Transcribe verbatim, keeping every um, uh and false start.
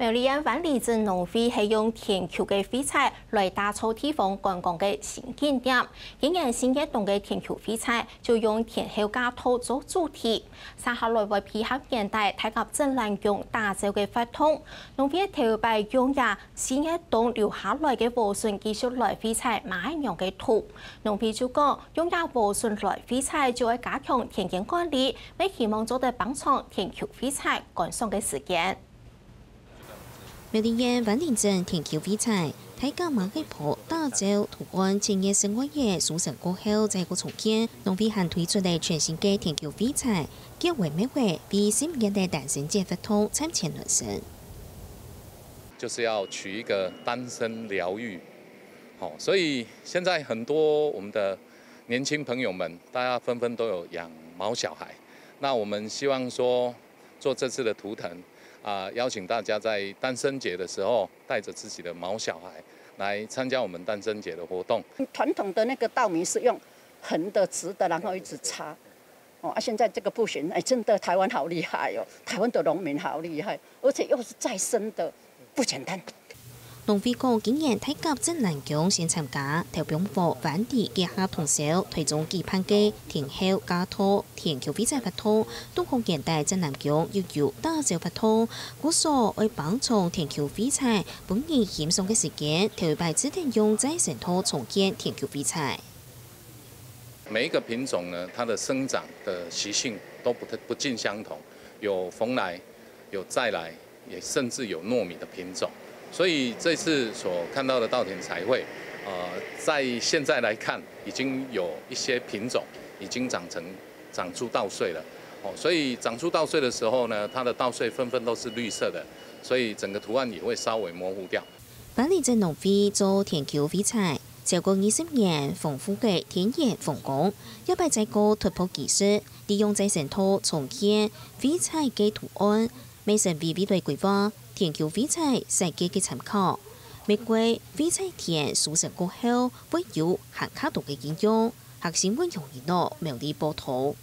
苗栗縣灣裡鎮農會係用田坵个廢材來打造地方觀光个新景點。今年四月冬个田坵廢材就用田坵架套做主題，續下來會配合現代大甲鎮瀾宮打造个活動。農會頭擺用這四月冬留下來个禾筍繼續來廢材馬仔娘个土。農會就講，用這禾筍來廢材就愛加強田間管理，乜希望做得幫助田坵廢材乾爽个時間。 苗栗縣灣裡鎮田坵廢材，大甲馬仔婆打造圖案，千年十外年收成過後再過重建。農會還推出了全新个田坵廢材，結尾尾尾，為十年个單身節活動嶄增暖身。就是要取一個單身療癒，好，所以现在很多我们的年轻朋友们，大家纷纷都有养毛小孩。那我们希望说，做这次的图腾啊，邀请大家在单身节的时候，带着自己的毛小孩来参加我们单身节的活动。传统的那个稻米是用横的、直的，然后一直插。哦，啊，现在这个不行，哎，真的台湾好厉害哦，台湾的农民好厉害，而且又是再生的，不简单。 農會講，今年大甲鎮瀾宮先參加頭放禾灣裡結合通霄，台中舉辦个田坵架套田坵廢材活動，都學現代鎮瀾宮又有打造活動，故所愛幫助田坵廢材，分人欣賞个時間，頭擺只能用再生土重建田坵廢材。每一个品种呢，它的生长的习性都不太不尽相同，有蓬莱，有再来，也甚至有糯米的品种。所以这次所看到的稻田彩绘，呃，在现在来看，已经有一些品种已经长成长出稻穗了。哦，所以长出稻穗的时候呢，它的稻穗纷纷都是绿色的，所以整个图案也会稍微模糊掉。 灣裡鎮農會做田坵廢材，超過二十年豐富个田園風光，這擺再過突破技術，利用再生土重建廢材个圖案，乜成為未來規劃田坵廢材設計个參考。每季廢材田收成過後，會有還較多个應用。學生溫陽一樂苗栗報導。